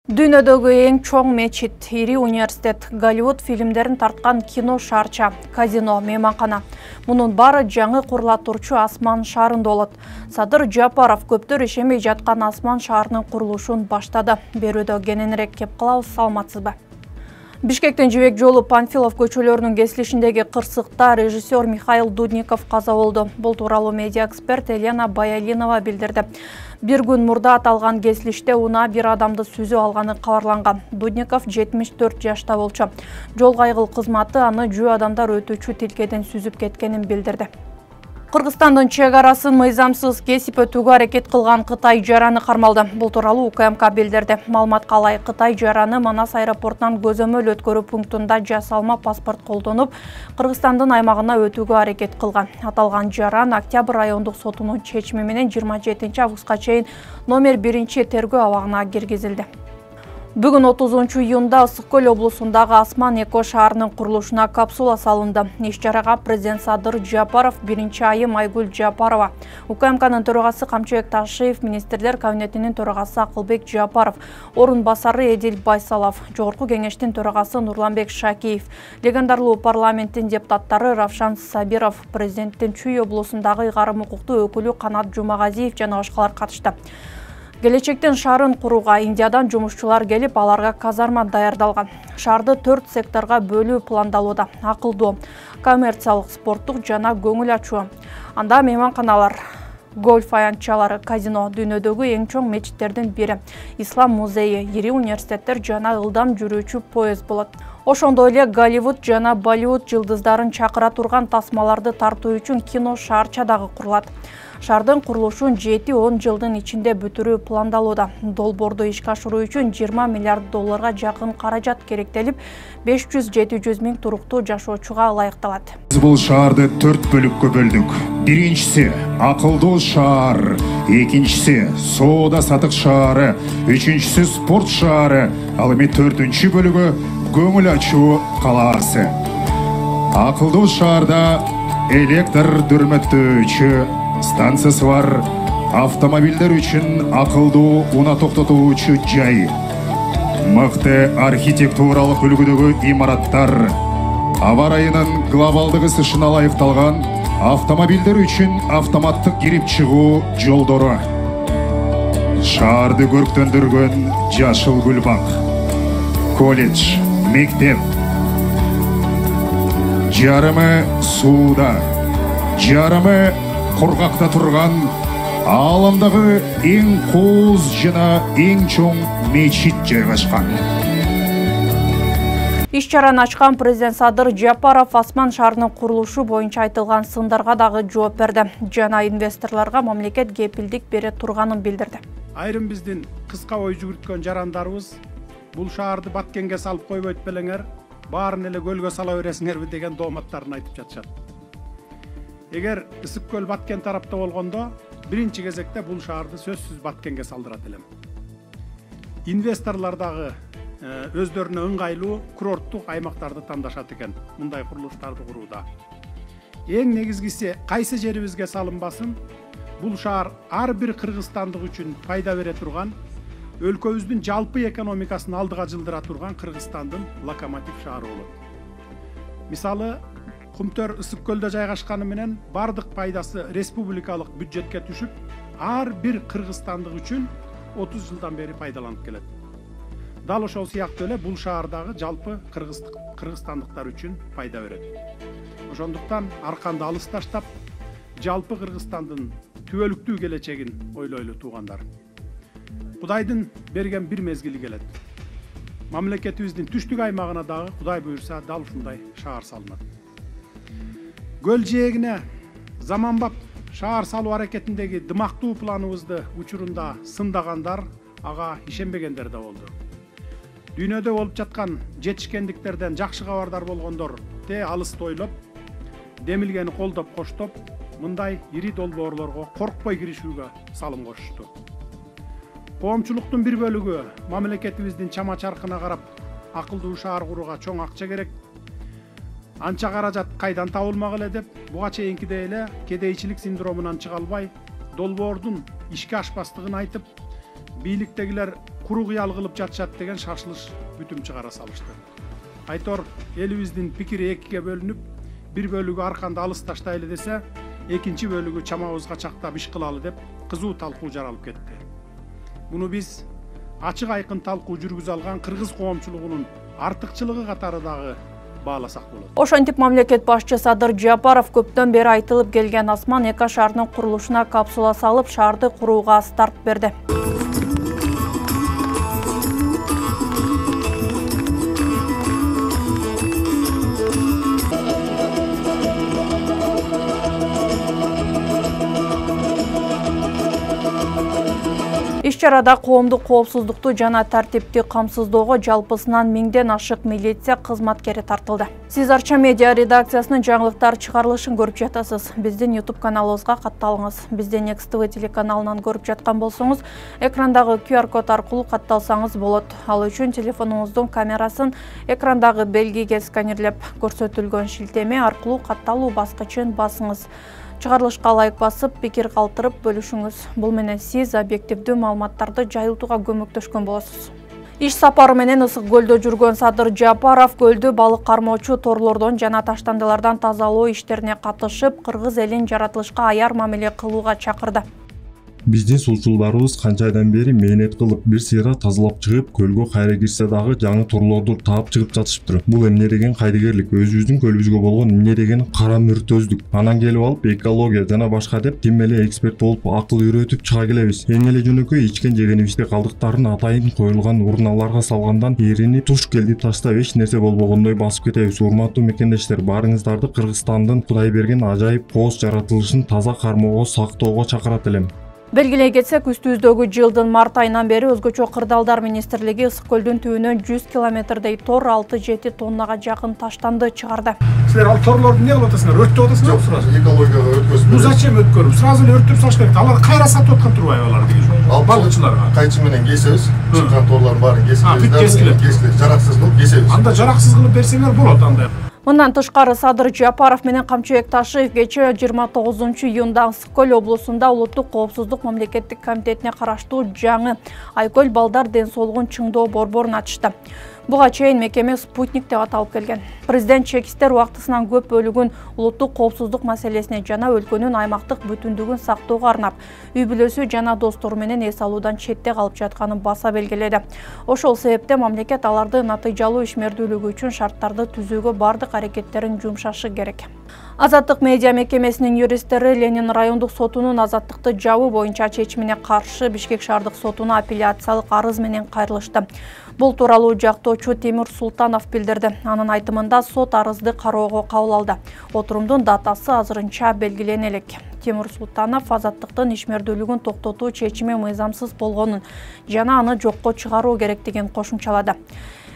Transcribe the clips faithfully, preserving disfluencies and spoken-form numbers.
Дүйнөдөгү эң чоң мечит, ири университет, Голливуд фильмдерин тарткан кино шаарча, казино, мейманкана. Мунун баары жаңы курула турчу Асман шаарында болот. Садыр Жапаров көптөр ишенбей жаткан Асман шаарынын курулушун баштады. Берүүдө кененирээк кеп калабыз, саламатсызбы? Бишкектен Жибек жолу Панфилов көчөлөрүнүн кесилишиндеги кырсыкта режиссер Михаил Дудников каза болду. Бул тууралуу медиа эксперт Елена Баялинова билдирди. Бир күн мурда аталган кесилиште унаа бир адамды сүзүп алганы кабарланган. Дудников жетимиш төрт жашта болчу. Жол кайгыл кызматы аны жөө адамдар өтүүчү тилкеден сүзүп кеткенин билдирди. Кыргызстандын чек арасын мыйзамсыз кесип өтүүгө аракет кылган Кытай жараны кармалды. Бул тууралуу У К М К билдирди. Маалыматка ылай, Кытай жараны Манас аэропортунан көзөмөл өткөрүү пунктунда жасалма паспорт колдонуп, Кыргызстандын аймагына өтүүгө аракет кылган. Аталган жаран Октябрь райондук сотунун чечими менен жыйырма жетинчи августка чейин номер биринчи тергөө абагына киргизилди. Бүгүн отузунчу июнда Ысык Көл облусундагы Асман эко шаарынын курулушуна капсула салынды. Иш-чарага президент Садыр Жапаров, биринчи айым Айгүл Жапарова, У К М Кнын төрагасы Камчыбек Ташиев, министрлер кабинетинин төрагасы Акылбек Жапаров, орун басары Эдил Байсалов, жогорку кеңештин төрагасы Нурланбек Шакиев, легендарлуу парламенттин депутаттары Равшан Сабиров, президенттин Чүй облусундагы ыйгарым укуктуу өкүлү Канат Жумагазиев жана башкалар катышты. Келечектен шаарын курууга Индиядан жумушчулар келип, аларга казарма даярдалган. Шаарды төрт секторго бөлүү пландалууда: акылдуу, коммерциялык, спорттук жана көңүл ачуу. Анда мейманканалар, гольф аянтчалары, казино, дүйнөдөгү эң чоң мечиттердин бири, ислам музейи, ири университеттер жана ылдам жүрүүчү поезд болот. Ошондой эле Голливуд жана Болливуд жылдыздарын чакыра турган тасмаларды тартуу үчүн кино шаарча дагы курулат. Шаардын курулушун жети он жылдын ичинде бүтүрүү пландалууда. Долбоорду ишке ашыруу үчүн жыйырма миллиард долларга жакын каражат керектелип, беш жүз жети жүз миң туруктуу жашоочуга ылайыкталат. Биз бул шаарды төрт бөлүккө бөлдүк. Биринчиси акылдуу шаар, экинчиси соода сатык шаары, үчүнчүсү спорт шаары, ал эми төртүнчү бөлүгү көңүл ачуу калаасы. Акылдуу шаарда электр дүрмөттөөчү станциясы бар, автомобилдер үчүн акылдуу унаа токтотуучу жай, мыкты архитектуралык үлгүдөгү имараттар, аба ырайынын глобалдык ысышына ылайыкталган автомобилдер үчүн автоматтык кирип чыгуу жолдору, шаарды көрктөндүргөн жашыл гүлбак, колледж, мектеп, жарымы сууда, жарымы кургакта турган ааламдагы эң кооз жана эң чоң мечит жайгашкан. Иш-чараны ачкан президент Садыр Жапаров Асман шаарынын курулушу боюнча айтылган сындарга дагы жооп берди жана инвесторлорго мамлекет кепилдик бере турганын билдирди. Айрым биздин кыска ой жүгүрткөн жарандарыбыз бул шаарды Баткенге салып койбойт белеңер, баарын эле көлгө сала бересиңерби деген дооматтарын айтып жатышат. Эгер Ысык Көл Баткен тарапта болгондо, биринчи кезекте бул шаарды сөзсүз Баткенге салдырат элем. Инвесторлор дагы өздөрүнө ыңгайлуу курорттук аймактарды тандашат экен мындай курулуштарды курууда. Эң негизгиси кайсы жерибизге салынбасын, бул шаар ар бир кыргызстандык үчүн пайда бере турган, өлкөбүздүн жалпы экономикасын алдыга жылдыра турган Кыргызстандын локомотив шаары болот. Мисалы, Кумтөр Ысык Көлдө жайгашканы менен бардык пайдасы республикалык бюджетке түшүп, ар бир кыргызстандык үчүн отуз жылдан бери пайдаланып келет. Дал ошол сыяктуу эле бул шаардагы жалпы кыргызстандыктар үчүн пайда берет. Ошондуктан арканды алыс таштап, жалпы Кыргызстандын түбөлүктүү келечегин ойлойлу туугандар. Кудайдын берген бир мезгили келет. Мамлекетибиздин түштүк аймагына дагы Кудай буйрса дал ушундай шаар салынат. Көл жээгине заманбап шаар салуу аракетиндеги дымактуу планыбызды учурунда сындагандар, ага ишенбегендер да болду. Дүйнөдө болуп жаткан жетишкендиктерден жакшы кабардар болгондор те алысты ойлоп, демилгени колдоп коштоп, мындай ири долбоорлорго коркпой киришүүгө салым кошушту. Коомчулуктун бир бөлүгү мамлекетибиздин чама чаркына карап, акылдуу шаар курууга чоң акча керек, анча каражат кайдан табылмак эле деп, буга чейинкидей эле кедейчилик синдромунан чыга албай, долбоордун ишке ашпастыгын айтып, бийликтегилер куру кыял кылып жатышат деген шашылыш бүтүм чыгара салышты. Айтор элибиздин пикири экиге бөлүнүп, бир бөлүгү арканды алыс таштайлы десе, экинчи бөлүгү чамабызга чактап иш кылалы деп кызуу талкуу жаралып кетти. Муну биз ачык айкын талкуу жүргүзө алган кыргыз коомчулугунун артыкчылыгы катары дагы бааласак болот. Ошентип мамлекет башчы Садыр Жапаров көптөн бери айтылып келген Осман эки шаарынын курулушуна капсула салып, шаарды курууга старт берди. Иш-чарада коомдук коопсуздукту жана тартипти камсыздоого жалпысынан миңден ашык милиция кызматкери тартылды. Сиз Арча медиа редакциясынын жаңылыктар чыгарылышын көрүп жатасыз. Биздин YouTube каналыбызга катталыңыз. Бизден Next T V телеканалынан көрүп жаткан болсоңуз, экрандагы Q R код аркылуу катталсаңыз болот. Ал үчүн телефонуңуздун камерасын экрандагы белгиге сканерлеп, көрсөтүлгөн шилтеме аркылуу катталуу баскычын басыңыз. Чыгарылышка лайк басып, пикир калтырып бөлүшүңүз. Бул менен сиз объективдүү маалыматтарды жайылтууга көмөктөшкөн болосуз. Иш сапары менен Ысык көлдө жүргөн Садыр Жапаров көлдү балык кармоочу торлордон жана таштандылардан тазалоо иштерине катышып, кыргыз элин жаратылышка аяр мамиле кылууга чакырды. Биздин суучулдарыбыз канча айдан бери мээнет кылып, бир сыйра тазалап чыгып, көлгө кайра кирсе дагы жаңы торлорду таап чыгып жатышыптыр. Бул эмне деген кайдыгерлик, өзүбүздүн көлүбүзгө болгон эмне деген кара мүртөздүк. Анан келип алып экология жана башка деп тим эле эксперт болуп акыл үйрөтүп чыга келебиз. Эң эле жөнөкөй ичкен жегенибизди калдыктарын атайын коюлган урналарга салгандан эрини туш келдип таштап эч нерсе болбогондой басып кетебиз. Урматтуу мекендештер, баарыңыздарды Кыргызстандын Кудай берген ажайып кооз жаратылышын таза кармоого, сактоого чакырат элем. Белгилей кетсек, үстүбүздөгү жылдын март айынан бери өзгөчө кырдаалдар министрлиги Ысык көлдүн түбүнөн жүз километрдей тор алты жети тоннага жакын таштанды чыгарды. Силер ал торлорду эмне кылып атасыңар? Өрттөп атасыңар? Жок, сразу экологияга өткөзүп. Бул зачем өткөрүп? Сразу эле өрттөп салыш керек. Алар кайра сатып аткан турбайбы алар деген? Ал балычыларга. Кайчы менен кесебиз. Чыккан торлордун баарын кесип, кесип, жараксыз кылып кесебиз. Анда жараксыз кылып берсеңер болот андай. Мындан тышкары Садыр Жапаров менен Камчыбек Ташиев кечээ жыйырма тогузунчу июнда Ысык көл облусунда улуттук коопсуздук мамлекеттик комитетине караштуу жаңы Айкөл балдар ден соолугун чыңдоо борборун ачышты. Буга чейин мекеме спутник деп аталып келген. Президент чекистер убактысынан көп бөлүгүн улуттук коопсуздук маселесине жана өлкөнүн аймактык бүтүндүгүн сактоого арнап, үй бүлөсү жана достору менен эс алуудан четте калып жатканын баса белгиледи. Ошол себептен мамлекет аларды натыйжалуу ишмердүүлүгү үчүн шарттарды түзүүгө бардык аракеттерин жумшашы керек. Азаттык медиа мекемесинин юристтери Ленин райондук сотунун азаттыкты жабуу боюнча чечимине каршы Бишкек шаардык сотуна апелляциялык арыз менен кайрылышты. Бул тууралуу жактоочу Темир Султанов билдирди. Анын айтымында сот арызды кароого кабыл алды. Отурумдун датасы азырынча белгилене элек. Темир Султанов азаттыктын ишмердүүлүгүн токтотуу чечими мыйзамсыз болгонун жана аны жокко чыгаруу керектигин кошумчалады.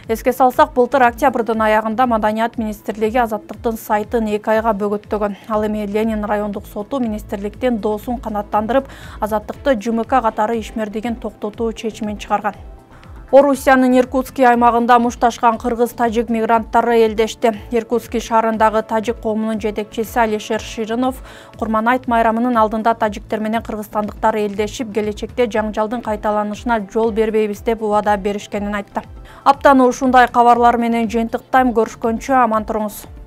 Эске салсак, былтыр октябрдын аягында Маданият министрлиги азаттыктын сайтын эки айга бөгөттөгөн. Ал эми Ленин райондук соту министрликтин доосун канааттандырып, азаттыкты Ж М К катары ишмердигин токтотуу чечимин чыгарган. Орусиянын Иркутский аймагында мушташкан кыргыз-тажик мигранттары элдешти. Иркутский шаарындагы тажик коомунун жетекчиси Алишер Ширинов Курманайт майрамынын алдында тажиктер менен кыргызстандыктар элдешип, келечекте жаңжалдын кайталанышына жол бербейбиз деп убада беришкенин айтты. Аптаны ушундай кабарлар менен жыйынтыктайм, көрүшкөнчө аман туруңуз.